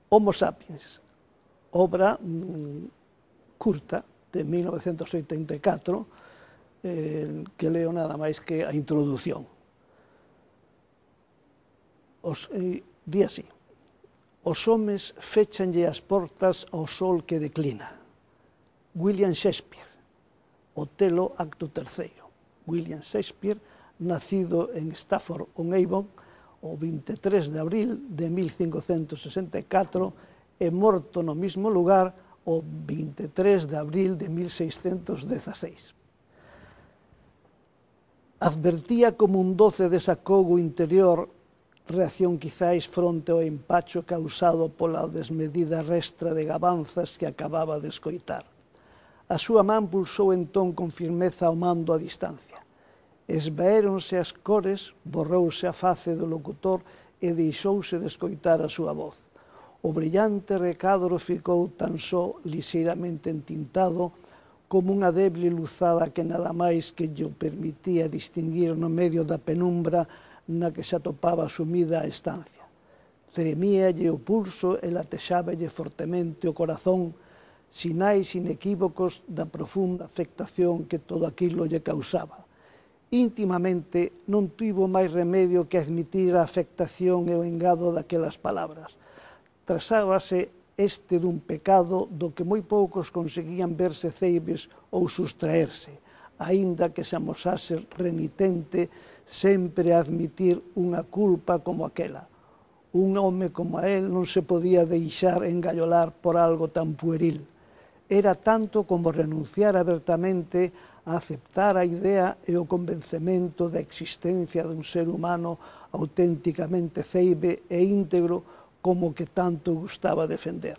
Homo sapiens, obra curta de 1984, que leo nada máis que a introdución. Di así: os homes fechanlle as portas ao sol que declina. William Shakespeare, Otelo, acto terceiro. William Shakespeare, nacido en Stafford-on-Avon o 23 de abril de 1564 e morto no mismo lugar o 23 de abril de 1616. Advertía como un doce desacogo interior, reacción quizáis fronte ao empacho causado pola desmedida restra de gabanzas que acababa de escoitar. A súa man pulsou entón con firmeza o mando a distancia. Esvaéronse as cores, borrouse a face do locutor e deixouse de escoitar a súa voz. O brillante recadro ficou tan só lixeiramente entintado como unha deble luzada que nada máis que lle permitía distinguir no medio da penumbra na que se atopaba sumida a estancia. Tremíalle o pulso e latexáballe fortemente o corazón, sinais inequívocos da profunda afectación que todo aquilo lle causaba. Íntimamente non tivo máis remedio que admitir a afectación e o engado daquelas palabras. Trasábase este dun pecado do que moi poucos conseguían verse ceibes ou sustraerse, aínda que se amosase renitente sempre a admitir unha culpa como aquela. Un home como a él non se podía deixar engallolar por algo tan pueril. Era tanto como renunciar abertamente a aceptar a idea e o convencemento da existencia dun ser humano auténticamente ceibe e íntegro como que tanto gustaba defender.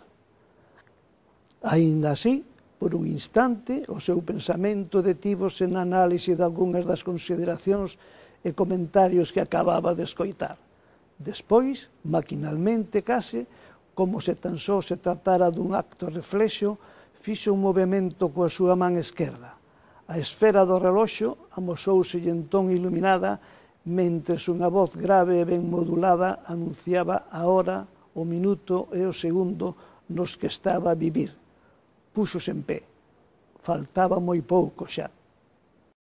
Aínda así, por un instante, o seu pensamento detívose na análise de algunhas das consideracións e comentarios que acababa de escoitar. Despois, maquinalmente case, como se tan só se tratara dun acto reflexo, fixo un movimento coa súa man esquerda. A esfera do reloxo amosouselle entón iluminada, mentres unha voz grave e ben modulada anunciaba a hora, o minuto e o segundo nos que estaba a vivir. Púxose en pé. Faltaba moi pouco xa.